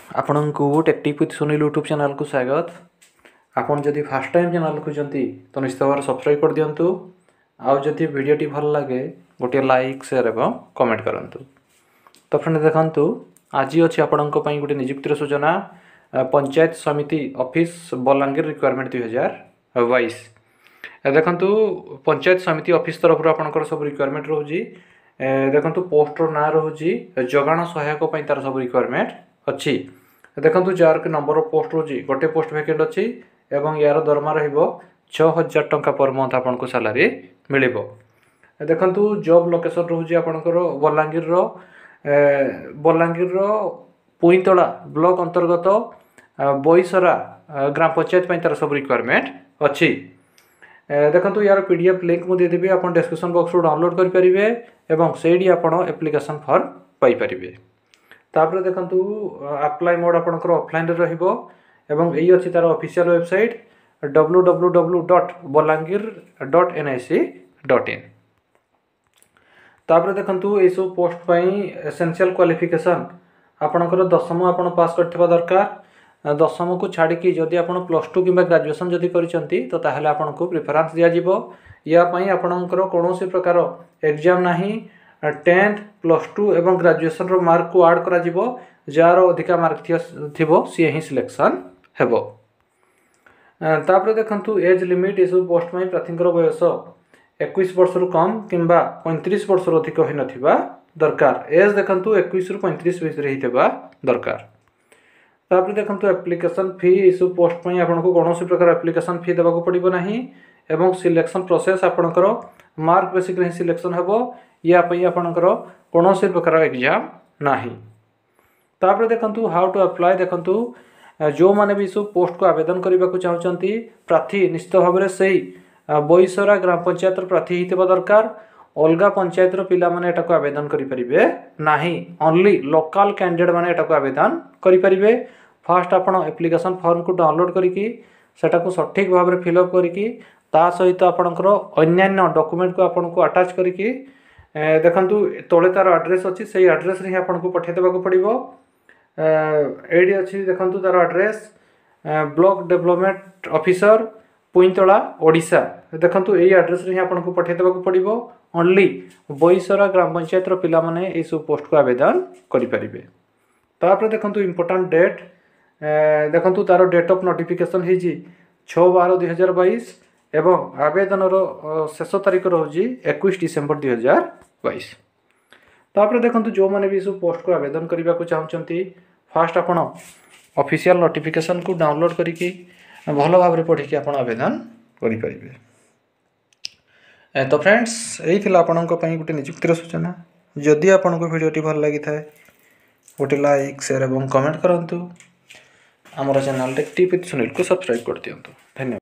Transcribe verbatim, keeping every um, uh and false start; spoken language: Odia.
ଆପଣଙ୍କୁ ଟେକ୍ ୱିଥ୍ ସୁନୀଲ ୟୁଟ୍ୟୁବ୍ ଚ୍ୟାନେଲ୍କୁ ସ୍ୱାଗତ। ଆପଣ ଯଦି ଫାର୍ଷ୍ଟ ଟାଇମ୍ ଚ୍ୟାନେଲ୍ ଦେଖୁଛନ୍ତି, ତ ନିଶ୍ଚିତ ଭାବରେ ସବସ୍କ୍ରାଇବ୍ କରିଦିଅନ୍ତୁ। ଆଉ ଯଦି ଭିଡ଼ିଓଟି ଭଲ ଲାଗେ, ଗୋଟିଏ ଲାଇକ୍, ସେୟାର ଏବଂ କମେଣ୍ଟ କରନ୍ତୁ। ତ ଫ୍ରେଣ୍ଡ, ଦେଖନ୍ତୁ, ଆଜି ଅଛି ଆପଣଙ୍କ ପାଇଁ ଗୋଟେ ନିଯୁକ୍ତିର ସୂଚନା, ଆ, ପଞ୍ଚାୟତ ସମିତି ଅଫିସ୍ ବଲାଙ୍ଗୀର ରିକ୍ରୁଟମେଣ୍ଟ ଦୁଇ ହଜାର ବାଇଶ। ଏ ଦେଖନ୍ତୁ, ପଞ୍ଚାୟତ ସମିତି ଅଫିସ୍ ତରଫରୁ ଆପଣଙ୍କର ସବୁ ରିକ୍ରୁଟମେଣ୍ଟ ରହୁଛି। ଏ ଦେଖନ୍ତୁ, ପୋଷ୍ଟର ନାଁ ରହୁଛି ଯୋଗାଣ ସହାୟକ ପାଇଁ ତାର ସବୁ ରିକ୍ରୁଟମେଣ୍ଟ ଅଛି। ଦେଖନ୍ତୁ, ଯାହାର କି ନମ୍ବର ଅଫ୍ ପୋଷ୍ଟ ରହୁଛି, ଗୋଟେ ପୋଷ୍ଟ ଭେକେଣ୍ଟ ଅଛି ଏବଂ ୟାର ଦରମା ରହିବ ଛଅ ହଜାର ଟଙ୍କା ପର ମନ୍ଥ ଆପଣଙ୍କୁ ସାଲାରୀ ମିଳିବ। ଦେଖନ୍ତୁ, ଜବ୍ ଲୋକେସନ୍ ରହୁଛି ଆପଣଙ୍କର ବଲାଙ୍ଗୀରର ଏ, ବଲାଙ୍ଗୀରର ପୁଇଁତଳା ବ୍ଲକ ଅନ୍ତର୍ଗତ ଆ, ବଇସରା ଆ, ଗ୍ରାମ ପଞ୍ଚାୟତ ପାଇଁ ତାର ସବୁ ରିକ୍ରୁଟମେଣ୍ଟ ଅଛି। ଏ, ଦେଖନ୍ତୁ, ୟାର ପି ଡି ଏଫ୍ ଲିଙ୍କ୍ ମୁଁ ଦେଇଦେବି, ଆପଣ ଡେସ୍କ୍ରିପସନ୍ ବକ୍ସରୁ ଡାଉନଲୋଡ଼୍ କରିପାରିବେ ଏବଂ ସେଇଠି ଆପଣ ଆପ୍ଲିକେସନ୍ ଫର୍ମ ପାଇପାରିବେ। ତାପରେ ଦେଖନ୍ତୁ, ଆପ୍ଲାଏ ମୋଡ଼ ଆପଣଙ୍କର ଅଫଲାଇନ୍ରେ ରହିବ ଏବଂ ଏଇ ଅଛି ତାର official website, W W W dot Balangir dot N I C dot in. ତାପରେ ଦେଖନ୍ତୁ, ଏଇସବୁ ପୋଷ୍ଟ ପାଇଁ ଏସେନ୍ସିଆଲ୍ କ୍ୱାଲିଫିକେସନ୍ ଆପଣଙ୍କର ଦଶମ ଆପଣ ପାସ୍ କରିଥିବା ଦରକାର। ଦଶମକୁ ଛାଡ଼ିକି ଯଦି ଆପଣ ପ୍ଲସ୍ ଟୁ କିମ୍ବା ଗ୍ରାଜୁଏସନ୍ ଯଦି କରିଛନ୍ତି, ତ ତାହେଲେ ଆପଣଙ୍କୁ ପ୍ରିଫରାନ୍ସ ଦିଆଯିବ। ୟା ପାଇଁ ଆପଣଙ୍କର କୌଣସି ପ୍ରକାର ଏକ୍ଜାମ୍ ନାହିଁ। ଟେନ୍ଥ, ପ୍ଲସ୍ ଟୁ ଏବଂ ଗ୍ରାଜୁଏସନ୍ର ମାର୍କକୁ ଆଡ଼୍ କରାଯିବ। ଯାହାର ଅଧିକା ମାର୍କ ଥିବ, ସିଏ ହିଁ ସିଲେକ୍ସନ୍ ହେବ। ତାପରେ ଦେଖନ୍ତୁ, ଏଜ୍ ଲିମିଟ୍, ଏସବୁ ପୋଷ୍ଟ ପାଇଁ ପ୍ରାର୍ଥୀଙ୍କର ବୟସ ଏକୋଇଶ ବର୍ଷରୁ କମ୍ କିମ୍ବା ପଇଁତିରିଶ ବର୍ଷରୁ ଅଧିକ ହୋଇନଥିବା ଦରକାର। ଏଜ୍ ଦେଖନ୍ତୁ, ଏକୋଇଶରୁ ପଇଁତିରିଶ ଭିତରେ ହେଇଥିବା ଦରକାର। ତାପରେ ଦେଖନ୍ତୁ, ଆପ୍ଲିକେସନ୍ ଫି, ଏସବୁ ପୋଷ୍ଟ ପାଇଁ ଆପଣଙ୍କୁ କୌଣସି ପ୍ରକାର ଆପ୍ଲିକେସନ୍ ଫି ଦେବାକୁ ପଡ଼ିବ ନାହିଁ ଏବଂ ସିଲେକ୍ସନ୍ ପ୍ରୋସେସ୍ ଆପଣଙ୍କର ମାର୍କ ବେସିସ୍ରେ ହିଁ ସିଲେକ୍ସନ୍ ହେବ। ୟା ପାଇଁ ଆପଣଙ୍କର କୌଣସି ପ୍ରକାର ଏକ୍ଜାମ୍ ନାହିଁ। ତାପରେ ଦେଖନ୍ତୁ, how to apply. ଦେଖନ୍ତୁ, ଯେଉଁମାନେ ବି ସବୁ ପୋଷ୍ଟକୁ ଆବେଦନ କରିବାକୁ ଚାହୁଁଛନ୍ତି, ପ୍ରାର୍ଥୀ ନିଶ୍ଚିତ ଭାବରେ ସେଇ ବଇସରା ଗ୍ରାମ ପଞ୍ଚାୟତର ପ୍ରାର୍ଥୀ ହେଇଥିବା ଦରକାର। ଅଲଗା ପଞ୍ଚାୟତର ପିଲାମାନେ ଏଟାକୁ ଆବେଦନ କରିପାରିବେ ନାହିଁ। ଅନଲି ଲୋକାଲ କ୍ୟାଣ୍ଡିଡେଟ୍ ମାନେ ଏଟାକୁ ଆବେଦନ କରିପାରିବେ। ଫାଷ୍ଟ ଆପଣ ଆପ୍ଲିକେସନ୍ ଫର୍ମକୁ ଡାଉନଲୋଡ଼୍ କରିକି, ସେଟାକୁ ସଠିକ୍ ଭାବରେ ଫିଲ୍ଅପ୍ କରିକି, ତା ସହିତ ଆପଣଙ୍କର ଅନ୍ୟାନ୍ୟ ଡକୁମେଣ୍ଟକୁ ଆପଣଙ୍କୁ ଆଟାଚ୍ କରିକି, ଦେଖନ୍ତୁ, ତଳେ ତା'ର ଆଡ୍ରେସ୍ ଅଛି, ସେଇ ଆଡ୍ରେସ୍ରେ ହିଁ ଆପଣଙ୍କୁ ପଠାଇ ଦେବାକୁ ପଡ଼ିବ। ଏଇଠି ଅଛି ଦେଖନ୍ତୁ ତା'ର address, block development officer, Puintala, Odisha. ଦେଖନ୍ତୁ, ଏଇ ଆଡ୍ରେସ୍ରେ ହିଁ ଆପଣଙ୍କୁ ପଠାଇ ଦେବାକୁ ପଡ଼ିବ। ଅନଲି ବଇସରା ଗ୍ରାମ ପଞ୍ଚାୟତର ପିଲାମାନେ ଏଇସବୁ ପୋଷ୍ଟକୁ ଆବେଦନ କରିପାରିବେ। ତାପରେ ଦେଖନ୍ତୁ, ଇମ୍ପୋର୍ଟାଣ୍ଟ ଡେଟ୍। ଦେଖନ୍ତୁ, ତା'ର ଡେଟ୍ ଅଫ୍ ନୋଟିଫିକେସନ୍ ହେଇଛି ଛଅ ବାର ଦୁଇ ହଜାର ବାଇଶ ଏବଂ ଆବେଦନର ଶେଷ ତାରିଖ ରହୁଛି ଏକୋଇଶ ଡିସେମ୍ବର ଦୁଇ ହଜାର ବାଇଶ। ତାପରେ ଦେଖନ୍ତୁ, ଯେଉଁମାନେ ବି ଏସବୁ ପୋଷ୍ଟକୁ ଆବେଦନ କରିବାକୁ ଚାହୁଁଛନ୍ତି, ଫାଷ୍ଟ ଆପଣ ଅଫିସିଆଲ୍ ନୋଟିଫିକେସନ୍କୁ ଡାଉନଲୋଡ଼୍ କରିକି ଭଲ ଭାବରେ ପଢ଼ିକି ଆପଣ ଆବେଦନ କରିପାରିବେ। ତ ଫ୍ରେଣ୍ଡସ୍, ଏଇ ଥିଲା ଆପଣଙ୍କ ପାଇଁ ଗୋଟେ ନିଯୁକ୍ତିର ସୂଚନା। ଯଦି ଆପଣଙ୍କୁ ଭିଡ଼ିଓଟି ଭଲ ଲାଗିଥାଏ, ଗୋଟେ ଲାଇକ୍, ସେୟାର ଏବଂ କମେଣ୍ଟ କରନ୍ତୁ। ଆମର ଚ୍ୟାନେଲ୍ ଟେକ୍ ୱିଥ୍ ସୁନୀଲକୁ ସବସ୍କ୍ରାଇବ୍ କରିଦିଅନ୍ତୁ। ଧନ୍ୟବାଦ।